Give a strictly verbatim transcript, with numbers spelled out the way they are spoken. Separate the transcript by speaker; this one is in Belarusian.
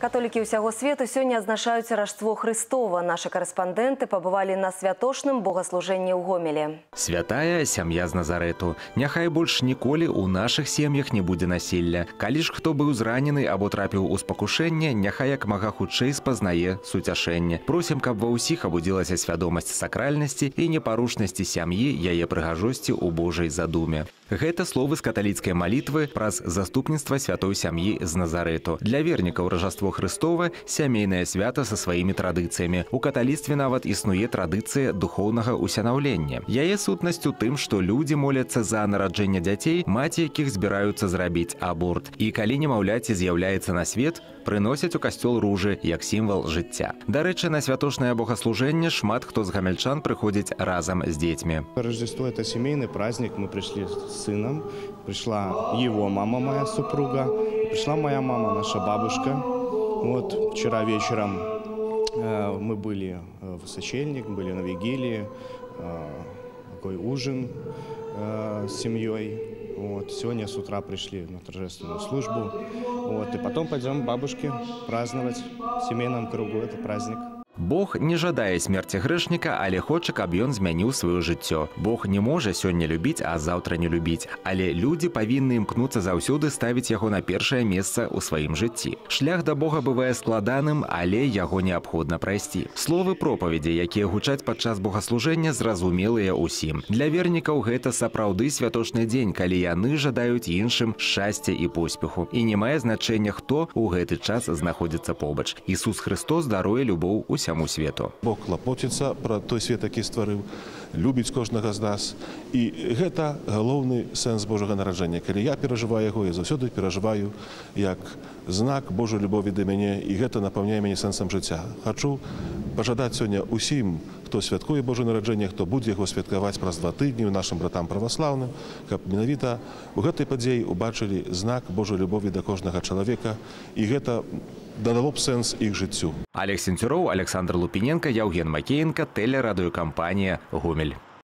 Speaker 1: Католікі ўсяго свету сёння адзначаюць Раждство Хрыстова. Нашы карэспандэнты пабывалі на святочным богаслужэнні ў Гомелі.
Speaker 2: Святая сям'я з Назарэту. Няхай больш ніколі ў нашых сем'ях не будзе насілля. Калі ж хто быў зранены або трапіў у спакушэнне, няхай як мага хутчэй спазнае суцяшэнне. Просім, каб ва ўсіх абудзілася свядомасць сакральнасці і непарушнасці сям'і, яе прыгажосці ў Божай задуме. Гэта словы з каталіцкай малітвы праз заступніцтва святой сям'і з Назарэту. Для вернікаў Раждство Хрыстова сямейнае свята са сваімі традыцыямі. У каталіцтве нават існуе традыцыя духоўнага усянаўлення. Яе сутнасць у тым, што людзі моляцца за нараджэнне дзяцей, маці якіх збіраюцца зрабіць аборт. І калі немаўляці з'яўляецца на свет, прыносяць у касцёл ружы як сімвал жыцця. Дарэчы, на святочнае богаслужэнне шмат хто з гамельчан прыходзіць разам з дзецьмі.
Speaker 3: Рождество – это семейный праздник. Мы пришли с сыном. Пришла его мама, моя супруга. Пришла моя мама, наша бабушка. Вот вчера вечером э, мы были в сочельник, были на вигилии, э, такой ужин э, с семьей. Вот. Сегодня с утра пришли на торжественную службу. Вот. И потом пойдем к бабушке праздновать в семейном кругу этот праздник.
Speaker 2: Бог не жадае смерці грэшніка, але хоча, каб ён змяніў сваё жыццё. Бог не можа сёння любіць, а заўтра не любіць. Але людзі павінны імкнуцца заўсёды ставіць яго на першае месца ў сваім жыцці. Шлях да Бога бывае складаным, але яго неабходна прайсці. Словы пропаведзі, якія гучаць падчас богаслужэння, зразумелыя ўсім. Для вернікаў гэта сапраўды святочны дзень, калі яны жадаюць іншым шчасця і поспеху. І не мае значэння, хто ў гэты час знаходзіцца побач. Ісус Христос даруе любоў усяму свету.
Speaker 4: Бог клапоціцца пра той свет, які стварыў, любіць кожнага з нас. І гэта галоўны сэнс Божага нараджэння. Калі я перажываю яго, я заўсёды перажываю як знак Божай любові да мяне, і гэта напаўняе мяне сэнсам жыцця. Хачу пажадаць сёння усім, хто святкуе Божае нараджэнне, хто будзе яго святкаваць праз два тыдні нашым братам праваслаўным, каб менавіта у гэтай падзеі убачылі знак Божай любові да кожнага чалавека, і гэта дадало б сэнс іх жыццю.
Speaker 2: Олег Сенцюроў, Александр Лупіненка, Яўген Макеенка, тэлерадыёкампанія «Гомель».